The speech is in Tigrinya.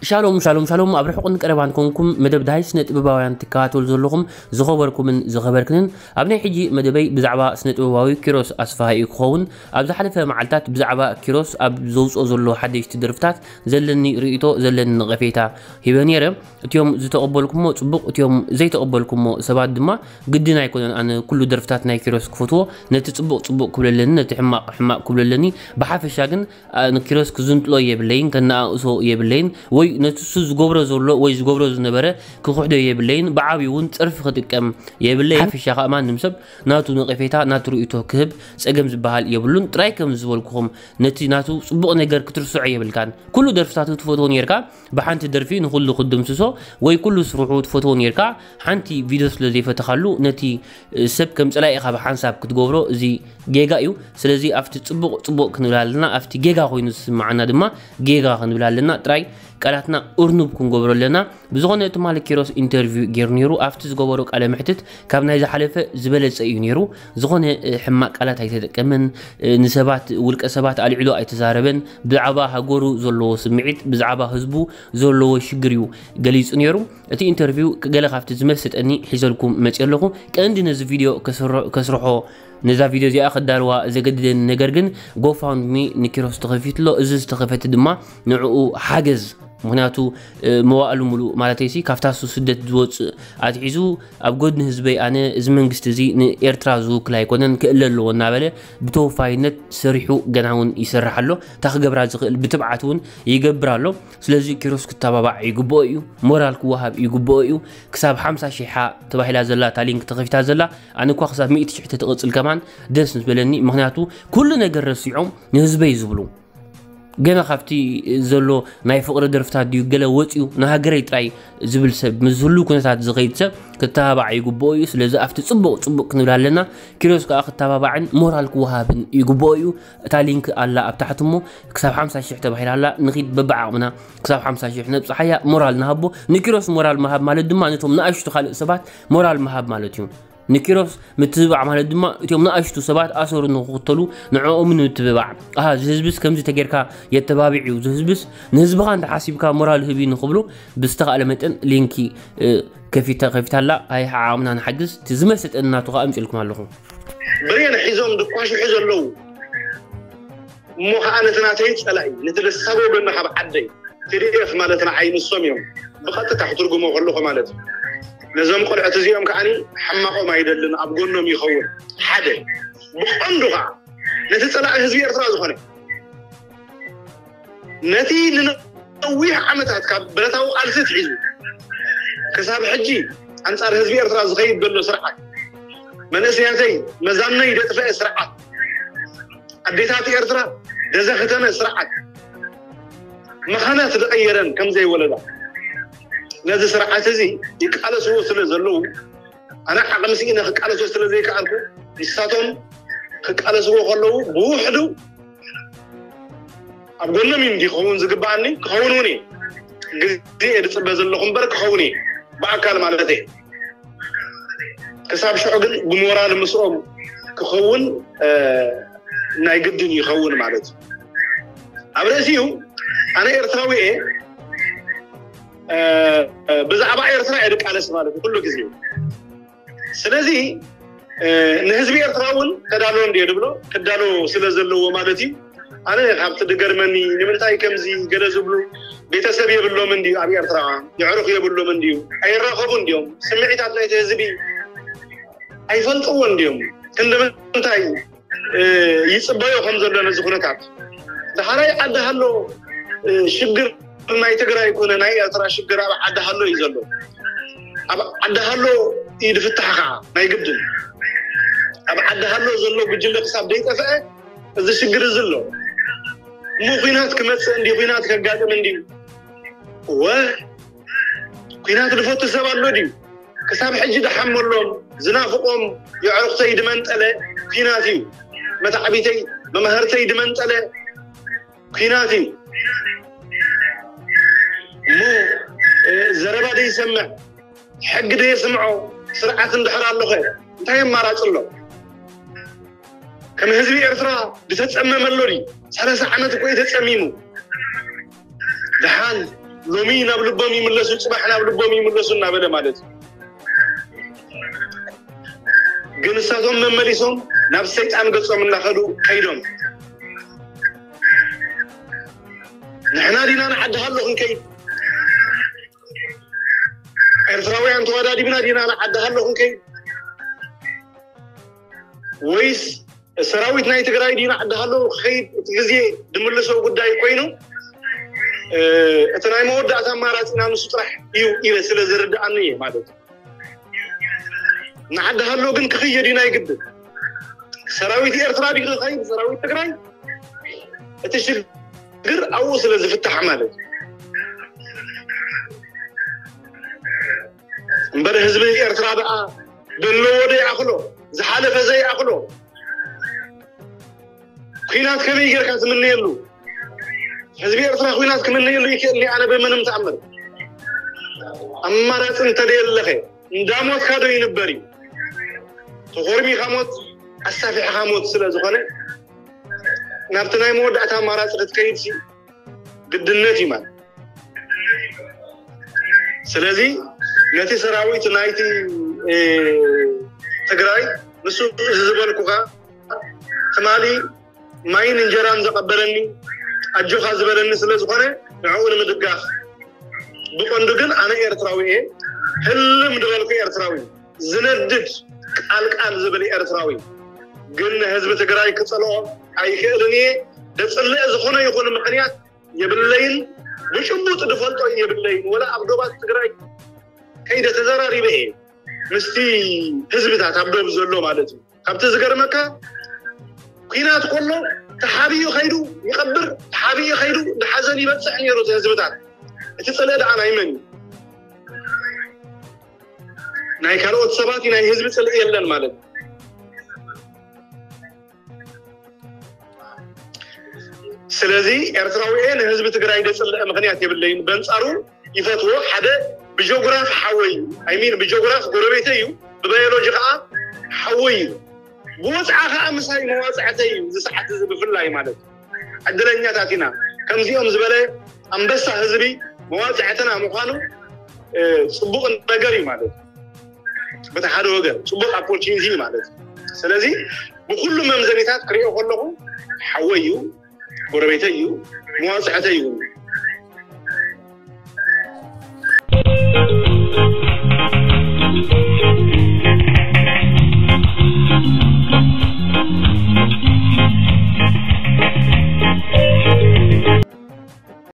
ሻሎም ሻሎም ሻሎም፣ ኣብ ርሑቕን ቀረባን ኮንኩም መደብ ዳሃይ ስነ ጥበባውያን ትከታተሉ ዘለኹም ዝኸበርኩምን ዝኸበርክንን፣ ኣብ ናይ ሕጂ መደበይ ብዛዕባ ስነ ጥበባዊ ኪሮስ ኣስፋሃ እዩ ክኸውን። ኣብ ዝሓለፈ መዓልታት ብዛዕባ ኪሮስ ኣብ ዘውፅኦ ዘሎ ሓደሽቲ ደርፍታት ዘለኒ ርእይቶ፣ ዘለኒ ነቐፌታ ሂበ ነይረ። እቲኦም ዝተቐበልኩሞ ፅቡቕ፣ እቲኦም ዘይተቐበልኩሞ ሰባት ድማ ግድን ኣይኮነን ኣነ ኩሉ ደርፍታት ናይ ኪሮስ ክፈትዎ። ነቲ ፅቡቕ ፅቡቕ ክብለለኒ፣ ነቲ ሕማቕ ሕማቕ ክብለለኒ። ብሓፈሻ ግን ንኪሮስ ክዝንጥሎ የብለይን፣ ከነኣእሶ የብለይን፣ ወይ ነቲ እሱ ዝገብሮ ዘሎ ወይ ዝገብሮ ዝነበረ ክኽሕዶ የብለይን። ብዓብዩ እውን ጸርፊ ክጥቀም የብለይን። ሓፈሻ ከኣ ማንም ሰብ ናቱ ነቐፌታ፣ ናቱ ርእይቶ ክህብ ጸገም ዝበሃል የብሉን። ጥራይ ከም ዝበልኩኹም ነቲ ናቱ ጽቡቕ ነገር ክትርስዖ የብልካን። ኩሉ ደርፍታቱ ትፈትዎ ኔርካ፣ ብሓንቲ ደርፊ ንኹሉ ክትድምስሶ ወይ ኩሉ ስርሑ ትፈትዎ ኔርካ፣ ሓንቲ ቪድዮ ስለ ዘይፈተኻሉ ነቲ ሰብ ከም ጸላኢ ኢኻ ብሓንሳብ ክትገብሮ፣ እዚ ጌጋ እዩ። ስለዚ ኣብቲ ጽቡቕ ጽቡቕ ክንብል ኣለና፣ ኣብቲ ጌጋ ኮይኑ ዝስምዓና ድማ ጌጋ ክንብል ኣለና። ጥራይ ቃላትና እርኑብ ክንገብሮ ኣለና። ብዝኾነ ትማሊ ኪሮስ ኢንተርቪው ገይሩ ነይሩ። ኣብቲ ዝገበሮ ቃለ መሕትት ካብ ናይ ዝሓለፈ ዝበለጸ እዩ ነይሩ። ዝኾነ ሕማቕ ቃላት ኣይተጠቀመን። ንሰባት፣ ውልቀ ሰባት ኣልዒሉ ኣይተዛረበን። ብዛዕባ ሃገሩ ዘለዎ ስምዒት፣ ብዛዕባ ህዝቡ ዘለዎ ሽግር እዩ ገሊጹ ነይሩ። እቲ ኢንተርቪው ገለ ካብቲ ዝመሰጠኒ ሒዘልኩም መፅእ ኣለኹ። ቀንዲ ነዚ ቪድዮ ከስርሖ፣ ነዛ ቪድዮ እዚኣ ክዳልዋ ዘገድደኒ ነገር ግን፣ ጎፋውንድሚ ንኪሮስ ተኸፊትሎ። እዚ ዝተኸፈተ ድማ ንዕኡ ሓገዝ፣ ምክንያቱ መዋእሉ ሙሉእ ማለተይሲ ካብታ እሱ ስደት ዝወፅእ ኣትሒዙ ኣብ ጎድኒ ህዝበይ ኣነ፣ እዚ መንግስቲ እዚ ንኤርትራ ዝውክል ኣይኮነን፣ ክእለ ኣለዎ እናበለ ብተወፋይነት ሰሪሑ ገና እውን ይሰርሕ ኣሎ። እታ ክገብራ ዝኽእል ብትብዓት እውን ይገብር ኣሎ። ስለዚ ኪሮስ ክተባባዕ ይግብኦ እዩ፣ ሞራል ክወሃብ ይግብኦ እዩ። ክሳብ ሓምሳ ሺሕ ተባሂላ ዘላ እታ ሊንክ ተኸፊታ ዘላ፣ ኣነ እኳ ክሳብ ሚእቲ ሽሕ ተትቕጽል ከማን ደስ ዝበለኒ። ምክንያቱ ኩሉ ነገር ረሲዖም ንህዝበይ ዝብሉ፣ ገና ካብቲ ዘሎ ናይ ፍቕሪ ደርፍታት ድዩ ገለ ወፂኡ ንሃገረይ ጥራይ ዝብል ሰብ፣ ምስ ህሉ ኩነታት ዝኸይድ ሰብ ክተባባዕ ይግብኦ እዩ። ስለዚ ኣብቲ ጽቡቕ ጽቡቕ ክንብል ኣለና። ኪሮስ ከዓ ክተባባዕን ሞራል ክወሃብን ይግብኦ እዩ። እታ ሊንክ ኣላ ኣብ ታሕቲ እሞ ክሳብ ሓምሳ ሽሕ ተባሂላ ኣላ። ንኺድ በብዓቕምና ክሳብ ሓምሳ ሽሕ ነብጽሓያ፣ ሞራል ንሃቦ። ንኪሮስ ሞራል ምሃብ ማለት ድማ ነቶም ንኣሽቱ ካልእ ሰባት ሞራል ምሃብ ማለት እዩ። ንኪሮስ ምትብባዕ ማለት ድማ እቶም ንኣሽቱ ሰባት ኣሰሩ ንክኽተሉ ንዕኦም ንምትብባዕ። ኣሃ፣ እዚ ህዝብስ ከምዚ ተጌርካ የተባብዕ እዩ፣ እዚ ህዝብስ ንህዝብኻ እንተሓሲብካ ሞራል ህብ እዩ ንክብሉ ብዝተኻእለ መጠን ሊንኪ፣ እ፣ ከፊታ፣ ከፊታ ኣላ። ኣይ፣ ዓቕምና ንሓግዝ። እቲ ዝመሰጠኒ ናቱ ከኣ ኣምጺእልኩም ኣለኹ። ብሬን ሒዞም ድኳሽሑ ዘለዉ እሞ ኸዓ ነቲ ናተይ ጸላኢ፣ ነቲ ደሳጎ ጎና ካብ ዓደይ፣ ቲ ዲ ኤፍ ማለት ንዓይ ንሶም እዮም። ብቐጥታ ክትርጉሞ ከለኹ ማለት እዩ። ነዞም ቆልዑት እዚኦም ከዓኒ ሕማቖም ኣይደልን፣ ኣብ ጎኖም ይኸውን። ሓደ። ብቐንዱ ኸዓ ነቲ ጸላኢ ህዝቢ ኤርትራ ዝኾነ፣ ነቲ ንነዊሕ ዓመታት ካብ ብረታዊ ቃልሲ ኣትሒዙ ክሳብ ሕጂ ኣንጻር ህዝቢ ኤርትራ ዝኸይድ ዘሎ ስርዓት፣ መንእሰያተይ መዛነይ ዘጥፈአ ስርዓት፣ ኣዴታት ኤርትራ ዘዘኽተመ ስርዓት፣ መኻናት ዝቐየረን ከም ዘይወለዳ፣ ነዚ ስርዓት እዚ ይቃለስዎ ስለ ዘለዉ፣ ኣነ ዓቕሚ ስኢነ ክቃለሶ ስለ ዘይከኣልኩ፣ ንሳቶም ክቃለስዎ ከለዉ ብውሕዱ ኣብ ጎኖም እዩ እንዲ ክኸውን ዝግብኣኒ፣ ክኸውን እውን እየ። ግዜ እየ ዝጽበ ዘለኹ እምበር ክኸውን እየ፣ ብኣካል ማለት እየ። ክሳብ ሽዑ ግን ብሞራል ምስኦም ክኸውን፣ እ፣ ናይ ግድን ይኸውን ማለት እዩ። ኣብ ርእሲኡ ኣነ ኤርትራዊ እየ፣ እ፣ ብዛዕባ ኤርትራ እየ ዝቃለስ ማለት እዩ ኩሉ ግዜ። ስለዚ፣ እ፣ ንህዝቢ ኤርትራ እውን ተዳሎ እንድየ ዝብሎ፣ ክዳሎ ስለ ዘለዎ ማለት እዩ። ኣነ ካብቲ ዝገርመኒ፣ ንምንታይ ከምዚ ገለ ዝብሉ፣ ቤተሰብ የብሎም እንድዩ ኣብ ኤርትራ፣ የዕሩኽ የብሎም እንድዩ፣ ኣይራኸቡን ድዮም፣ ስምዒታት ናይቲ ህዝቢ ኣይፈልጥዎን ድዮም፣ ክንዲ ምንታይ፣ እ፣ ይጽበዮ ከም ዘሎ ነዚ ኩነታት። ዳሕራይ ዓዲ ሃሎ፣ እ፣ ሽግር ናይ ትግራይ ኮነ ናይ ኤርትራ ሽግር ኣብ ዓዲ ሃሎ እዩ ዘሎ። ኣብ ዓዲ ሃሎ እዩ ዝፍታሕ ከዓ ናይ ግድን። ኣብ ዓዲ ሃሎ ዘሎ ጉጅለ ክሳብ ዘይጠፍአ እዚ ሽግር እዚ ኣሎ። እሞ ኲናት ክመጽእ እንዲ፣ ኲናት ከጋጥም እንዲ፣ እወ፣ ኲናት ዝፈቱ ሰብ ኣሎ ድዩ? ክሳብ ሕጂ ዝሓመሎም፣ ዝናፍቖም፣ የዕሩኽተይ ዝመንጠለ ኲናት እዩ። መታዕቢተይ፣ መማህርተይ ዝመንጠለ ኲናት እዩ። እሞ፣ እ፣ ዘረባ ዘይሰምዕ፣ ሕጊ ዘይስምዖ ስርዓት እንድሕር ኣሎ ኸ እንታይ ኣማራጺ ኣሎ? ከም ህዝቢ ኤርትራ ዝተጸመመ ኣሎ ድዩ? ሰላሳ ዓመት እኮ እዩ ተጸሚሙ። ደሓን ሎሚ ናብ ልቦም ይምለሱ፣ ፅባሕ ናብ ልቦም ይምለሱ እናበለ ማለት እዩ። ግን እሳቶም መመሊሶም ናብ ሰይጣን ገጾም እናኸዱ ከይዶም፣ ንሕና ዲና ንዓዲ ሃሎ ክንከይድ፣ ኤርትራውያን ተወዳዲብና ዲና ንዓዲ ሃሎ ክንከይድ፣ ወይስ ሰራዊት ናይ ትግራይ ዲና ዓዲ ሃሎ ክኸይድ እቲ ግዜ ድምልሶ ጉዳይ ኮይኑ፣ እቲ ናይ መወዳእታ ኣማራፂና ንሱ ጥራሕ እዩ ኢለ ስለ ዝርድኣኒ እየ ማለት እዩ። ንዓዲ ሃሎ ግን ክኽየድ እዩ ናይ ግድን። ሰራዊት ኤርትራ ድዩ ክኸይድ፣ ሰራዊት ትግራይ? እቲ ሽግር ኣብኡ ስለ ዝፍታሕ ማለት እዩ። እምበር ህዝቢ ኤርትራ ደኣ ዘለዎ ዘይኣኽሎ፣ ዝሓለፈ ዘይኣኽሎ፣ ኲናት ከመይ ጌርካ ትምነየሉ? ህዝቢ ኤርትራ ኲናት ክምነየሉ ይክእል ኣነ ብምንም ተኣምር። ኣማራፂ እንተደየለኸ እንዳ ሞትካ ዶ ይንበር እዩ? ተኾርሚኻ ሞት፣ ኣሳፊሕኻ ሞት ስለ ዝኾነ ናብቲ ናይ መወዳእታ ኣማራፂ ክትከይድ ሲ ግድነት እዩ ማለት። ስለዚ ነቲ ሰራዊት ናይቲ ትግራይ ንሱ እዚ ዝበልኩኻ ትማሊ ማይን እንጀራን ዘቐበለኒ ኣጆኻ ዝበለኒ ስለ ዝኾነ ንዕኡ ንምድጋፍ። ብቐንዱ ግን ኣነ ኤርትራዊ እየ፣ ህልም ዝበልኩ ኤርትራዊ፣ ዝነድድ ቃልቃል ዝብል ኤርትራዊ። ግን ንህዝቢ ትግራይ ክጸልኦ ኣይክእልን እየ። ደጽልእ ዝኾነ ይኹን ምኽንያት የብለይን። ብጭቡጥ ዝፈልጦ የብለይን። ወላ ኣብ ዶባት ትግራይ ከይደ ተዘራሪበ እየ ምስቲ ህዝብታት ኣብ ዶብ ዘሎ ማለት እዩ። ካብቲ ዝገርመካ ኲናት ከሎ ተሓቢኡ ከይዱ ይቐብር፣ ተሓቢኡ ከይዱ ንሓዘን ይበፅሕ ነይሩ እቲ ህዝብታት። እቲ ፅልኢ ደኣ ናይ መን እዩ? ናይ ካልኦት ሰባት እዩ፣ ናይ ህዝቢ ፅልኢ የለን ማለት እዩ። ስለዚ ኤርትራዊ እየ ንህዝቢ ትግራይ ደፅልእ ምኽንያት የብለይን። በንፃሩ ይፈትዎ። ሓደ ብጀጉራፍ ሓወይ፣ ኣይሚን ብጀጉራፍ ጎረቤተይ እዩ፣ ብባዮሎጂ ከዓ ሓወይ እዩ። ብወፅዓ ከዓ ምሳይ መዋፅዕተይ እዩ። እዚ ሰዓት እዚ ብፍላይ ማለት እዩ። ዕድለኛታት ኢና። ከምዚኦም ዝበለ ኣንበሳ ህዝቢ መዋፅዕትና ምዃኑ ፅቡቕ ነገር እዩ ማለት እዩ። በቲ ሓደ ወገን ፅቡቕ ኦፖርቹኒቲ እዩ ማለት እዩ። ስለዚ ብኩሉ መምዘኒታት ክሪኦ ከለኹ ሓወይ እዩ፣ ጎረቤተይ እዩ፣ መዋፅዕተይ እዩ።